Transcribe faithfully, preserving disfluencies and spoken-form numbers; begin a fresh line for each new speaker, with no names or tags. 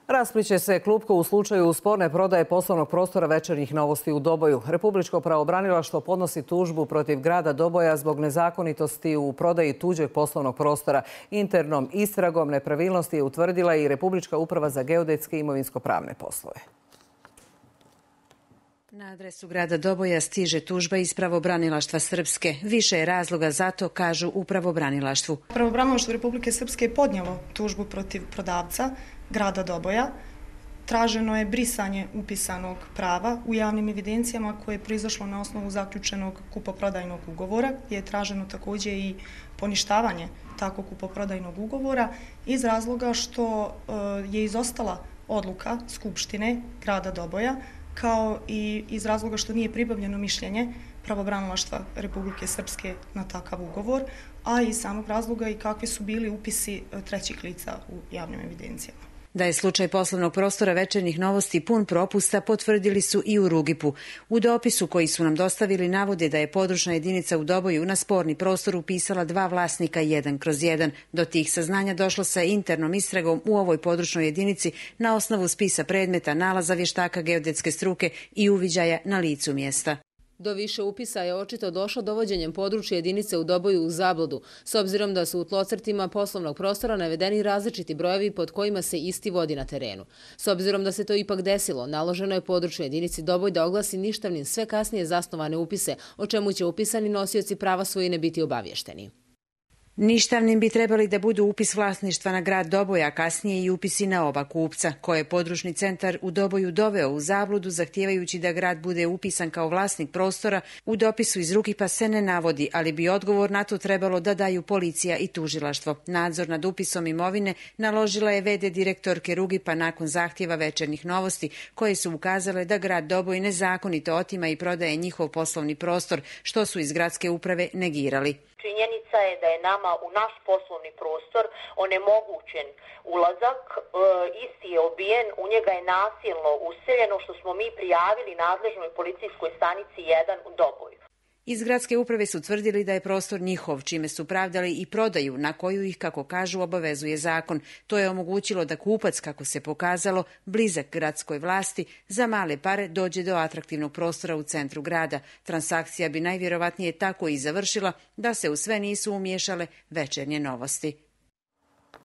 Raspliće se klupko u slučaju sporne prodaje poslovnog prostora Večernjih novosti u Doboju. Republičko pravobranilaštvo podnosi tužbu protiv grada Doboja zbog nezakonitosti u prodaji tuđeg poslovnog prostora. Internom istragom nepravilnosti je utvrdila i Republička uprava za geodetske i imovinsko-pravne poslove.
Na adresu grada Doboja stiže tužba iz pravobranilaštva Srpske. Više je razloga za to, kažu u pravobranilaštvu.
Pravobranilaštvo Republike Srpske je podnijelo tužbu protiv prodavca grada Doboja. Traženo je brisanje upisanog prava u javnim evidencijama koje je proizašlo na osnovu zaključenog kupoprodajnog ugovora, gdje je traženo također i poništavanje takvog kupoprodajnog ugovora iz razloga što je izostala odluka Skupštine grada Doboja, kao i iz razloga što nije pribavljeno mišljenje pravobranilaštva Republike Srpske na takav ugovor, a i samog razloga i kakvi su bili upisi trećih lica u javnim evidencijama.
Da je slučaj poslovnog prostora Večernjih novosti pun propusta potvrdili su i u Rugipu. U dopisu koji su nam dostavili navode da je područna jedinica u Doboju na sporni prostor upisala dva vlasnika jedan kroz jedan. Do tih saznanja došlo sa internom istragom u ovoj područnoj jedinici na osnovu spisa predmeta, nalaza vještaka geodetske struke i uviđaja na licu mjesta.
Do više upisa je očito došlo dovođenjem područja jedinice u Doboju u zabludu, s obzirom da su u tlocrtima poslovnog prostora navedeni različiti brojevi pod kojima se isti vodi na terenu. S obzirom da se to ipak desilo, naloženo je područnoj jedinici Doboj da oglasi ništavnim sve kasnije zasnovane upise, o čemu će upisani nosioci prava svojine biti obavješteni.
Ništavnim bi trebali da budu upis vlasništva na grad Doboja, kasnije i upisi na oba kupca, koje je područni centar u Doboju doveo u zabludu, zahtijevajući da grad bude upisan kao vlasnik prostora. U dopisu iz Rugipa se ne navodi, ali bi odgovor na to trebalo da daju policija i tužilaštvo. Nadzor nad upisom imovine naložila je ve de direktorke Rugipa nakon zahtjeva Večernjih novosti, koje su ukazale da grad Doboj nezakonito otima i prodaje njihov poslovni prostor, što su iz gradske uprave negirali.
Činjenica je da je nama u naš poslovni prostor onemogućen ulazak, e, isti je obijen, u njega je nasilno useljeno, što smo mi prijavili nadležnoj policijskoj stanici jedan u Doboju.
Iz gradske uprave su tvrdili da je prostor njihov, čime su pravdali i prodaju, na koju ih, kako kažu, obavezuje zakon. To je omogućilo da kupac, kako se pokazalo, blizak gradskoj vlasti, za male pare dođe do atraktivnog prostora u centru grada. Transakcija bi najvjerovatnije tako i završila da se u sve nisu umiješale Večernje novosti.